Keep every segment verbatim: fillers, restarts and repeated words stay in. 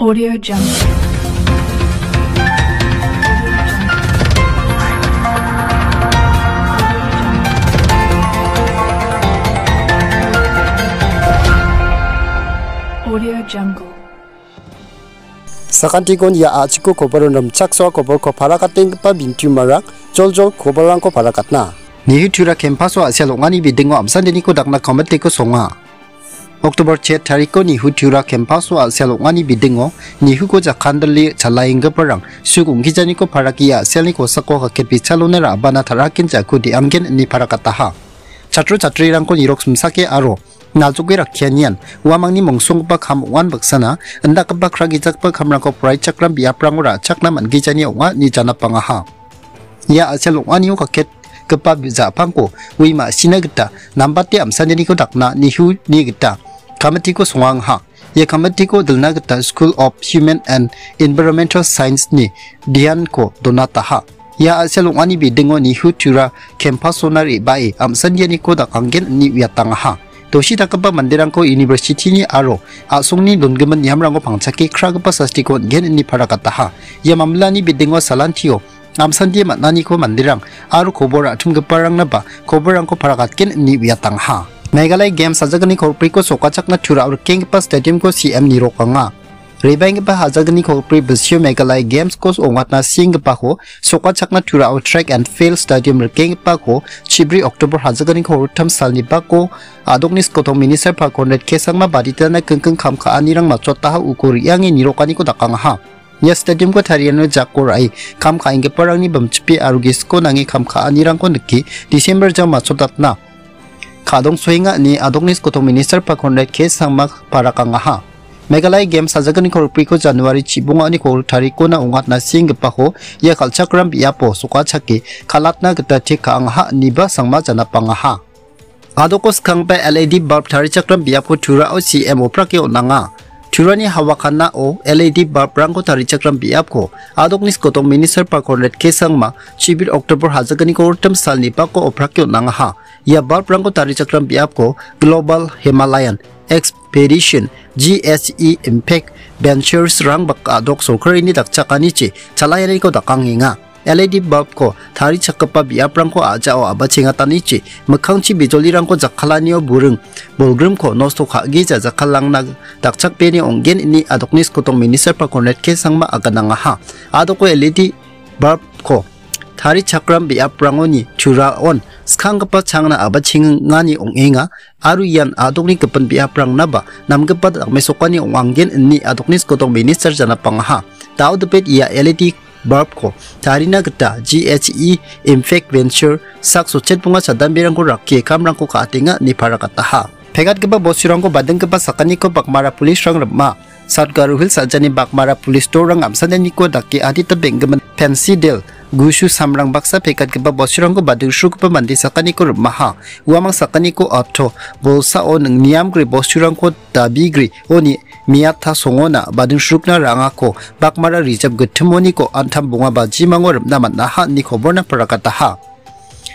Audio Jungle. Audio Jungle. Sakantikon ia a·chiko koboron rimchaksoa koborko parakatenggipa bintiumarang joljol koborrangko parakatna. Nihu Tura kempaso a·sia ong·ani bidingo amsandeniko dakna komitiko songa. Oktobar chet tariko Nihu Tura kempaso a·sia ong·ani bidingo Nihuko jakandile chalaenggiparang suk ong·gijaniko paraki a·sialni kosako kaket bichalona ra·bana tarakin jako de·anggen ine parakataha. Chatro chatrirangko nirok simsake aro naljoke rakkianian uamangni mongsonggipa kam ong·an baksana indakgipa kragijakgipa kamrangko poraichakram biaprango ra·chakna man·gijani ong·a ine janapangaha. Ia a·sel ong·anio kaketgipa ja·pangko ui ma·sina gita nambate amsaneniko dakna Nihu-ni gita kamitiko songangaha. Ia kamitiko dilna gita School of Human and Environmental Science-ni dianko donataha. Ia a·sel ong·ani bidingo Nihu Tura kempasona re·bae amsandianiko dakanggen ine uiatangaha. Dosi dakgipa manderangko university-ni aro a·songni dongimin niamrango pangchake kragipa sastiko on·gen ine parakataha. Ia mamilani bidingo salantio amsandie man·aniko manderang aro kobor a·timgiparangnaba koborrangko parakatgen ine uiatangaha. Meghalaya Games sajagni kolpriko sokachakna Turao rikenggipa stadium-ko C M nirokanga. Rebaenggipa hajagni kolbri bisio Meghalaya Games-ko ong·atna sienggipako sokachakna Turao Track and Field Stadium rikenggipako chibri Oktober hajagni kolgrittam salni bako a·dokni skotong minister Pak Conrad K Sangma baditana kingking kam ka·anirang matchotaha uko re·ange nirokaniko dakangaha. Ia stadium-ko tariano jako ra·e kam ka·enggiparangni bimchipe aro gisiko nange kam ka·anirangko nike December jang matchotatna ka·dongsoenga ine a·dokni skotong minister Pak Conrad K Sangma parakangaha. Meghalaya Games sajagni kolbriko January chibongani kol tarikona ong·atna sienggipako ia kal·chakram biapo sokachake kal·atna gita tik ka·angaha ineba Sangma janapangaha. A·doko skanggipa L E D bulb tarichakram biapko Turao C M oprake on·anga. Turani hawakanao L E D bulb-rangko tarichakram biapko a·dokni skotong minister Pak Conrad K Sangma chibir Oktober hajagni kolgrittam salni bako oprake on·angaha. Ia bulb-rangko tarichakram biapko Global Himalayan Expedition, G H E Impact Ventures-rang bak a·dok sorkarini dakchakanichi chalayaniko dakangenga. L E D bulb-ko tarichakgipa biaprangko a·jao a·bachengatanichi mikkangchi bijolirangko jakkalanio buring bolgrimko nosto ka·gija jakkalangna dakchakbeni ong·gen ine a·dokni skotong minister Pak Conrad K Sangma aganangaha. A·doko L E D bulb-ko tarichakram biaprangoni Turaon skanggipa changna a·bachengani ong·enga aro ian a·dokni gipin biaprangnaba namgipa dakmesokani ong·angen ine a·dokni skotong minister janapangaha. Dao dipet ia L E D bulb-ko tarina gita G H E Impact Venture sak sotchet bonga chadamberangko rakkie kamrangko ka·atenga ine parakataha. Pekatgipa bosturangko badinggipa sakaniko Bakmara police-rang rima. South Garo Hills a·jani Bakmara police dolrang amsaneniko dake adita beng·gimin pensidel gusu samrang baksa pekatgipa bosturangko badingsrugipa mande sakaniko rimaha. Uamang sakaniko auto bolsao ning-, niamgri bosturangko dabigri oni miata songona badingsrukna ra·angako Bakmara rijap gittimoniko antam bonga bajimango rimna man·aha ine koborna parakataha.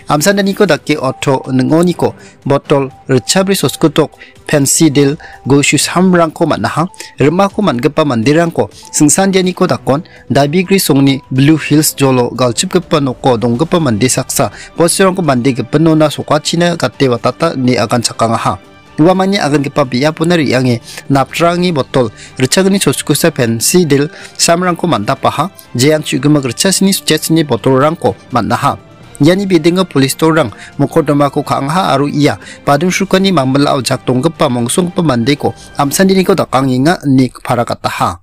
Amsananiko dake auto ning·oniko botol ritchabri soskutok pensidel gusu samrangko man·aha. Rimako man·gipa manderangko singsandianiko dakon dabigri songni Blue Hills jolo galchipgipa noko donggipa mande saksa bosturangko mande gipinona sokachina gate watata ine aganchakangaha. Uamangni agangipa biapona re·ange naptrangni botol ritchagni soskusa pensidel samrangko man·dapaha. Jean chu·gimik ritchasini sotchasini botolrangko man·aha. Iani bidingo police dolrang mokodomako ka·angaha aro ia badingsrukani mamilao jak donggipa mongsonggipa mandeko amsaneniko dakangenga ine parakataha.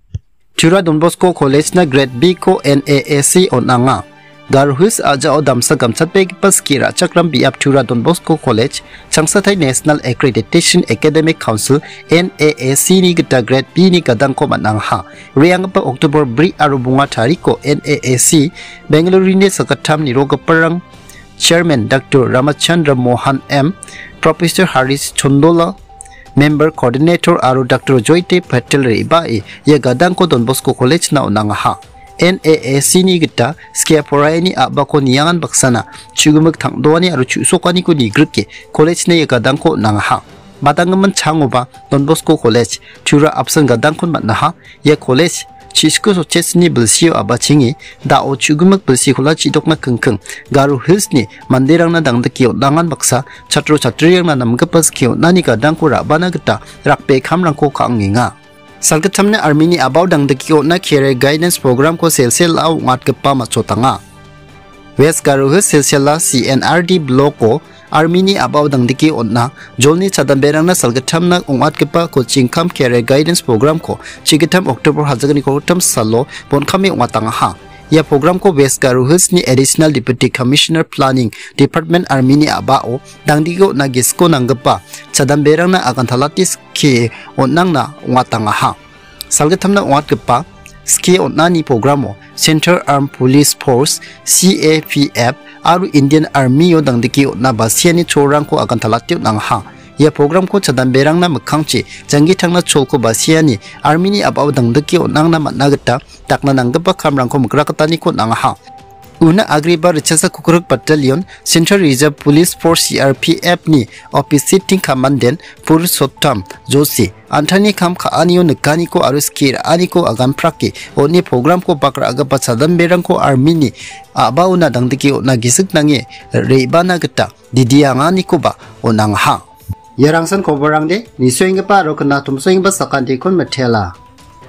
Tura Don Bosco College-na Grade B-ko N A A C on·anga. Garo Hills a·jao damsa gamchatbegipa skie ra·chakram biap Tura Don Bosco College, Changsatai National Accreditation Academic Council, N A A C-ni gita Grade B-ni gadangko man·angaha. Re·anggipa Oktober bri aro bonga tariko N A A C Bengaluru-ni sakgittam nirogiparang Chairman Doctor Ramachandra Mohan M, Professor Harish Chondola, Member Coordinator aro Doctor Joyte Patel re·bae ia gadangko Don Bosco College-na on·angaha. N A A C-ni gita skie poraiani a·bako niangan baksana chu·gimik tang·doani aro chu·sokaniko nigrike college-na ia gadangko on·angaha. Badanggimin changoba Don Bosco College, Tura apsan gadangkon man·aha. Ia college, chisku sochesni bilsio abachengi, dao chugimik bilsikola chidokna kingking, Garo Hillsni manderangna dangdike on·angan baksa, chatro chatrirangna namgipa skie on·ani gadangko ra·bana gita rakbe kamrangko ka·angenga. Salgittamni armini a·bao dangdike on·a career guidance programko selsela ong·atgipa matchotanga. West Garo Hills selsela C N R D bloko armini a·bao dangdike on·a jolni chadamberangna salgittamna ong·atgipa coaching cum career guidance programko chigittam October hajagniko gittam salo bon·kame ong·atangaha. Ia programko West Garo Hillsni Additional Deputy Commissioner Planning Department armini a·bao dangdike on·a gisiko nanggipa chadamberangna agantalate skie on·angna ong·atangaha. Salgittamna ong·atgipa skie on·ani programo Central Armed Police Force, C A P F, aro Indian Army-o dangdike on·a basiani cholrangko agantalate on·angaha. Ia programko chadamberangna mikkangchi janggi tangna cholko basiani armini a·bao dangdike on·angna man·a gita dakna nanggipa kamrangko mikrakgitaniko on·angaha. Una agreba Richasa Kukruk Battalion, Central Reserve Police Force, C R P F ni Office Sitting Commandant Purushottam Joshi, an·tangni kam ka·anio nikaniko aro skie ra·aniko aganprake, on·e programko bak ra·gipa chadamberangko armini a·baona dangdike on·a gisik nange re·bana gita didianganikoba on·angaha. Iarangsan koborangde, nisoenggipa aro knatomsoenggipa sakantikon mitela.